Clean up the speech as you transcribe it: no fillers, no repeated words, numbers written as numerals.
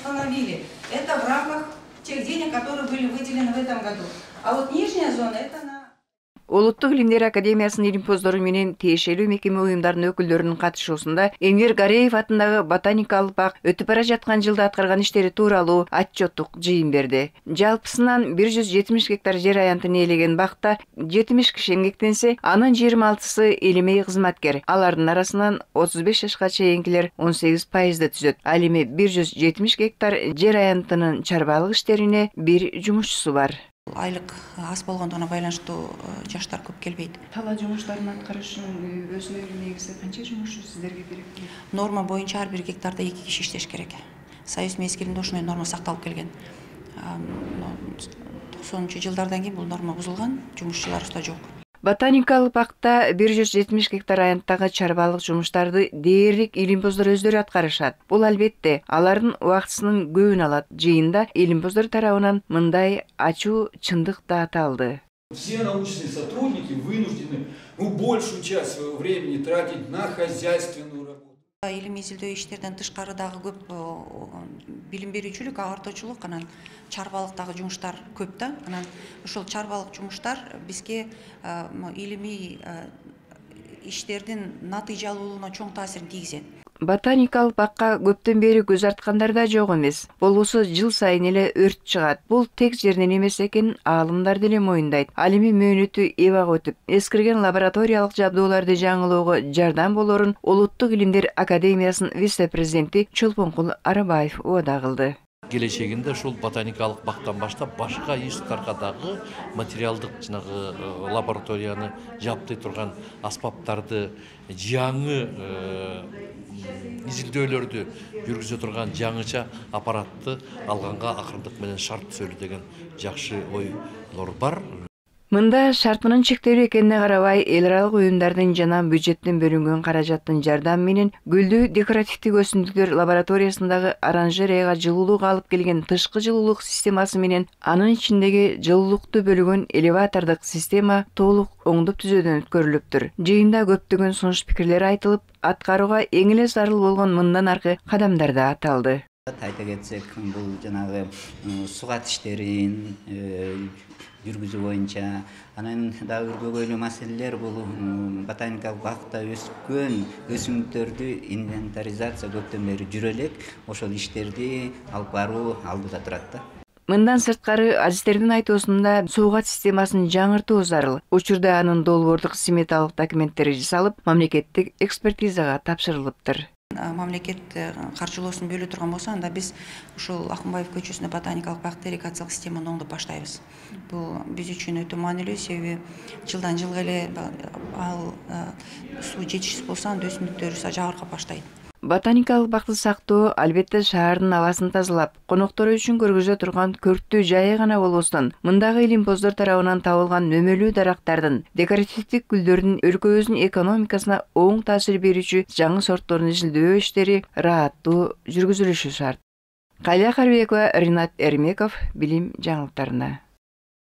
установили. Это в рамках тех денег, которые были выделены в этом году. А вот нижняя зона это на... Улуттук Илимдер Академиясынын илимпоздору менен тиешелүү мекеме уюмдарынын өкүлдөрүнүн катышуусунда Эмир Гареев атындагы ботаникалык бак өтүп бара жаткан жылда аткарган иштери тууралуу отчеттук жыйын берди. Жалпысынан 170 гектар жер аянтын ээлеген бакта 70 киши эмгектенсе, анын 26сы илимий кызматкер. Алардын арасынан 35 жашка чейинкилер 18% түзөт. Ал эми 170 гектар жер аянтынын чарбалык иштерине бир жумушчусу бар. Айлык аз болгондугуна байланыштуу жаштар көп келбейт. Тала жумуштарын аткарыш үчүн өзүнүн негизи канча жумушчу сиздерге керек? Норма боюнча ар бир гектарда 2 киши иштеш керек. Союз мезгилинде ушундай норма сакталып келген. 90-жылдардан кийин бул норма бузулган, жумушчуларыбызда жок. Ботаникалык бакта 170 гектар аянттагы чарбалык жумуштарды дээрлик илимпоздор өздөрү аткарышат. Бул албетте алардын убактысынын көбүн алат. Жыйында илимпоздор тарабынан мындай ачуу чындык да аталды. Все научные сотрудники вынуждены большую часть своего времени тратить на хозяйственную работу. Илимий изилдөө иштерден тышкары дагы көп билим берүүчүлүк, агартуучулук, анан чарбалыктагы жумуштар көп да. Анан ошол чарбалык жумуштар бизге илимий иштердин натыйжалуулугуна чоң таасирин тийгизет. Ботаникалык бакка көптөн бери көз арткандар да жок эмес. Болбосо жыл сайын эле өрт чыгат. Бул тек жерден эмес экенин аалымдар деле моюндайт. Ал эми мөөнөтү эбак өтүп, эскирген лабораториялык жабдууларды жаңылоого жардам болорун Улуттук Илимдер Академиясынын вице-президенти Чолпонкул Арабаев убада кылды. Келечегинде ушул ботаникалык бактан баштап башка иштарга дагы материалдык жанагы лабораторияны жабдый турган аспаптарды, жаңы изилдөөлөрдү жүргүзө турган жаңыча аппаратты алганга акырындык менен шарт түзөлү деген жакшы ойлор бар. Мында шартынын чектелүү экенине карабай, эл аралык уюмдардын жана бюджеттен бөлүнгөн каражаттын жардамы менен гүлдүү декоративдик өсүмдүктөр лабораториясындагы оранжереяга жылуулук алып келген тышкы жылуулук системасы менен анын ичиндеги жылуулукту бөлүгөн элеватордук система толук оңдоп түзөөдөн өткөрүлүптүр. Жыйында көптөгөн сунуш пикирлер айтылып, аткарууга эң эле зарыл болгон мындан аркы кадамдар да аталды. Айта кетсек, бул жанагы сугат иштерин жүргүзүү боюнча, анан дагы бир көбөйлүү маселелер бул ботаникалык бакта өскөн өсүмдүктөрдү инвентаризация көптөн бери жүрө элек, ошол иштерди алып баруу алдыда турат да. Мындан сырткары азистердин айтуусунда суугат системасын жаңыртуу зарыл. Учурда анын долбоордук сметалык документтери жасалып, мамлекеттик экспертизага тапшырылыптыр. Мамлекет каржылоосун бөлө турган болсо, анда биз ушул Акунбаев көчөсүндө ботаникалык бакта ирригациялык системаны оңдоп баштайбыз. Бул биз үчүн өтө маанилүү, себеби жылдан жылга эле ал суу жетишсиз болсо, анда өсүмдүктөрүбүз жабыркап баштайт. Ботаникалык бакты сактоо албетте шаардын абасын тазалап, коноктор үчүн көргөзө турган көрктүү жайы гана болбостон, мындагы илимпоздор тарабынан табылган нөмөлүү дарактардын, декоративдик гүлдөрдүн өлкөбүздүн экономикасына оң таасир берүүчү жаңы сортторун изилдөө иштери ырааттуу жүргүзүлүшү шарт. Калия Карбекова, Ринат Эрмеков, билим жаңылыктарында.